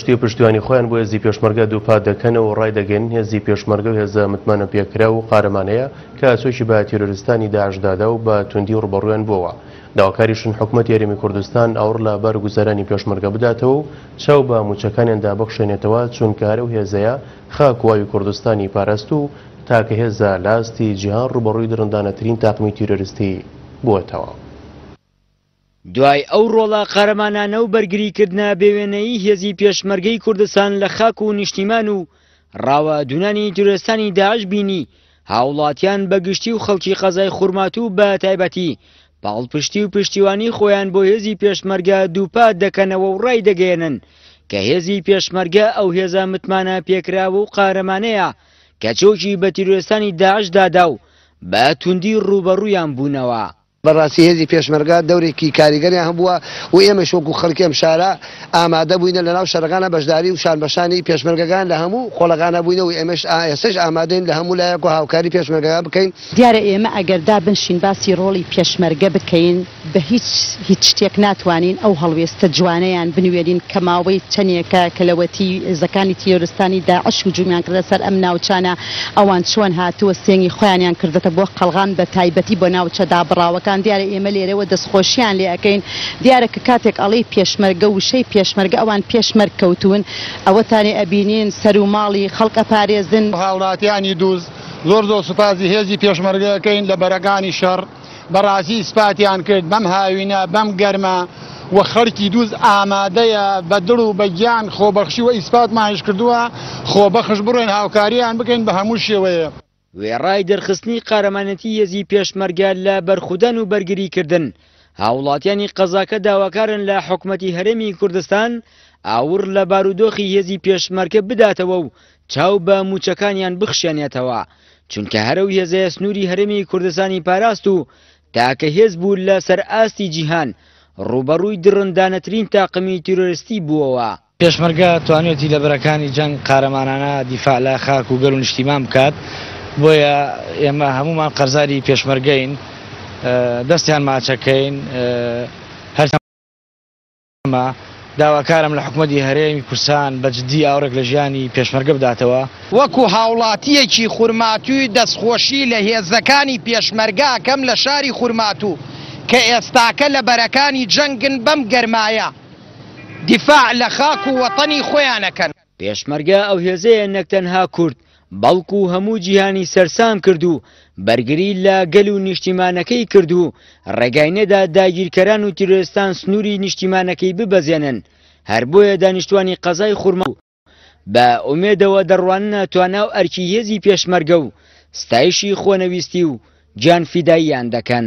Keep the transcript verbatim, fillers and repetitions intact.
پاڵپشتی و پشتیوانی خۆیان بۆ هێزی پێشمەرگە دووپات دەکەنەوە و ڕایدەگەیەنن هێزی پێشمەرگە و هێزە متمانە پێکراو و قارەمانەیە کە چۆکی بە تیرۆریستانی داعش دادا و بە توندی ڕووبەڕوویان بووەوە. داواکاریشن حکومەتی هەرێمی کوردستان ئاوڕ لە بارگوزارانی پێشمەرگە بداتەوە و چاو بە موچەکانیاندا بخشێنێتەوە، چونکە هەر ئەو هێزەیە خاک و ئاوی کوردستانی پاراست و تاکە هێزە لە ئاستی جیهان ڕووبەڕووی دڕندانەترین تاقمی تیرۆریستی بووەتەوە. دوای ئەو ڕۆڵە قارەمانانە و بەرگریکردنە بێوێنەیی هێزی پێشمەرگەی کوردستان لە خاک و نیشتیمان و ڕاوە دوونانی تیرۆریستانی داعش بینی، هاوڵاتیان بە گشتی و خەڵکی قەزای خورماتوو بە تایبەتی پاڵپشتی و پشتیوانی خۆیان بۆ هێزی پێشمەرگە دووپات دەکەنەوە و ڕای دەگەیەنن کە هێزی پێشمەرگە ئەو هێزە متمانە پێکراوە و قارەمانەیە کە چۆکی بە تیرۆریستانی داعش دادا و بە توندی ڕووبەڕوویان بوونەوە. بەڕاستی هێزی پێشمەرگە دەورێکی کاریگەریان هەبووە و ئێمەش وەکو خەڵکی ئەم شارە ئامادە بووینە لەناو شەرەکانە بەشداری و شانبەشانی پێشمەرگەکان لە هەموو خۆڵەکانە بووینە و ئێمەش ئێستاش ئامادەین لە هەموو لایەک و هاوکاری پێشمەرگەکان بکەین. دیارە ئێمە ئەگەر دابنشین باسی ڕۆڵی پێشمەرگە بکەین بە هیچ هیچ شتێک ناتوانین ئەو هەڵوێستە جوانەیان بنوێنین کە ماوەی چەندێکە کە لەوەتی هێزەکانی تیرۆریستانی داعش هجومیان کردە سەر ئەم ناوچانە، ئەوان چۆن هاتووە سێنگی خۆیانیان کردێتە بۆ قەڵغان بە تایبەتی بۆ ناوچە دابڕاوەکان. دیارە ئێمە لێرەوە دەستخۆشیان لێ ئەەکەین. دیارە کە کاتێک ئەڵێی پێشمەرگە وشەی پێشمەرگە ئەوان پێشمەرگ کەوتون، ئەوەتانێ ئەبینین سەر و ماڵی خەڵک ئەپارێزن. هاوڵاتیانی دووز زۆر زۆر سوپاسی هێزی پێشمەرگەکەین لە بەرەکانی شەڕ، بەڕاستی ئیسپاتیان کرد بەم هاوینە بەم گەرمە و خەڵکی دووز ئامادەیە بە دڵ و بە گیان خۆبەخشی و ئیسپاتمانش کردووە خۆبەخش بڕێن هاوکاریان بکەین بە هەموو شێوەیە. وێڕای دەرخستنی قارەمانەتی هێزی پێشمەرگە لە بەرخودان و بەرگریکردن، هاوڵاتیانی قەزاکە داواکارن لە حکومەتی هەرێمی کوردستان ئاوڕ لە بارودۆخی هێزی پێشمەرگە بداتەوە و چاو بە موچەکانیان بخشێنێتەوە، چونکە هەرەو هێزەیە سنووری هەرێمی کوردستانی پاراست و تاکە هێز بوو لە سەر ئاستی جیهان ڕووبەڕووی دڕندانەترین تاقمی تیرۆریستی بووەوە. پێشمەرگە توانیویەتی لە بەرەکانی جەنگ قارەمانانە دیفاع لە خاک و گەل و نیشتیمان بکات، بۆیە ئێمە هەمومان قەرزاری پێشمەرگەین، دەستیان ماچەکەین. هەرمە داواکارم لە حکومەتی هەرێمی کوردستان بە جدی ئاوڕێک لە ژیانی پێشمەرگە بداتەوە. وەکو هاوڵاتیەکی خورماتووی دەستخۆشی لە هێزەکانی پێشمەرگە کەم لە شاری خورماتوو کە ئێستاکە لە بەرەکانی جەنگن بەم گەرمایە دیفاع لە خاک و وەتەنی خۆیانەکەن. پێشمەرگە ئەو هێزەیە نەک تەنها کورد بەڵکو هەموو جیهانی سەرسام کرد و بەرگری لە گەل و نیشتیمانەکەی کرد و ڕێگای نەدا داگیرکەران و تیرۆریستان سنووری نیشتیمانەکەی ببەزێنن. هەر بۆیە دانیشتوانی قەزای خورماتوو بە ئومێدەوە دەڕواننە توانا و ئەرکی هێزی پێشمەرگە و ستایشی خۆنەویستی و گیانفیداییان دەکەن.